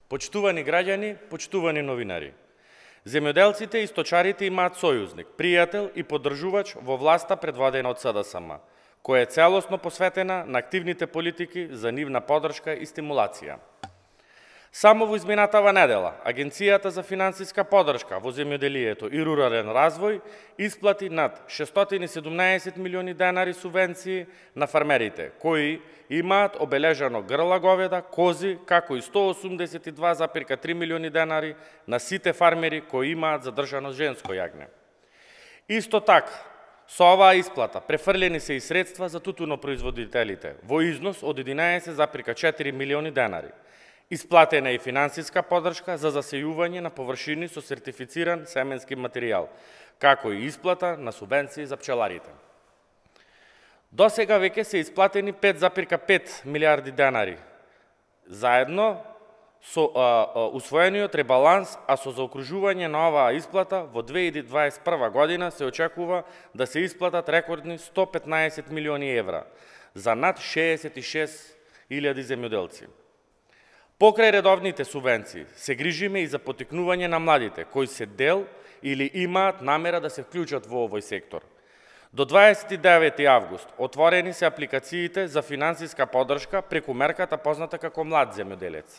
Почитувани граѓани, почитувани новинари. Земјоделците и сточарите имаат сојузник, пријател и поддржувач во власта предводена од СДСМ, која е целосно посветена на активните политики за нивна поддршка и стимулација. Само во изминатава недела, Агенцијата за финансиска поддршка во земјоделието и рурален развој исплати над 617 милиони денари субвенции на фармерите, кои имаат обележано грла говеда, кози, како и 182,3 милиони денари на сите фармери кои имаат задржано женско јагне. Исто така, со оваа исплата префрлени се и средства за тутунопроизводителите во износ од 11,4 милиони денари. Исплатена е и финансиска поддршка за засејување на површини со сертифициран семенски материјал, како и исплата на субвенции за пчеларите. До сега веќе се исплатени 5,5 милиарди денари, заедно со усвоениот ребаланс, а со заокружување на оваа исплата во 2021 година се очекува да се исплатат рекордни 115 милиони евра за над 66.000 земјоделци. Покрај редовните субвенции, се грижиме и за потикнување на младите, кои се дел или имаат намера да се вклучат во овој сектор. До 29 август отворени се апликациите за финансиска поддршка преку мерката позната како млад земјоделец,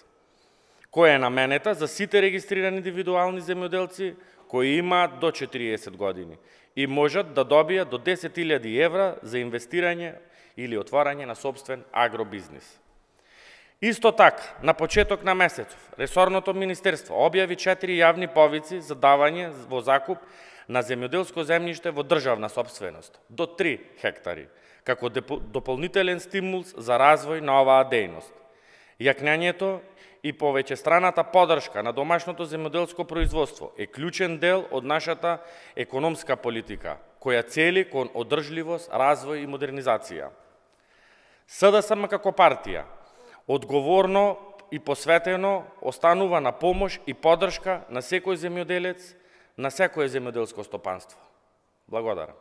која е наменета за сите регистрирани индивидуални земјоделци кои имаат до 40 години и можат да добијат до 10.000 евра за инвестирање или отворање на сопствен агробизнис. Исто така, на почеток на месецов, ресорното министерство објави 4 јавни повици за давање во закуп на земјоделско земјиште во државна сопственост, до 3 хектари, како дополнителен стимул за развој на оваа дејност. Јакнењето и повеќестраната поддршка на домашното земјоделско производство е клучен дел од нашата економска политика, која цели кон одржливост, развој и модернизација. СДСМ како партија одговорно и посветено останува на помош и поддршка на секој земјоделец, на секое земјоделско стопанство. Благодарам.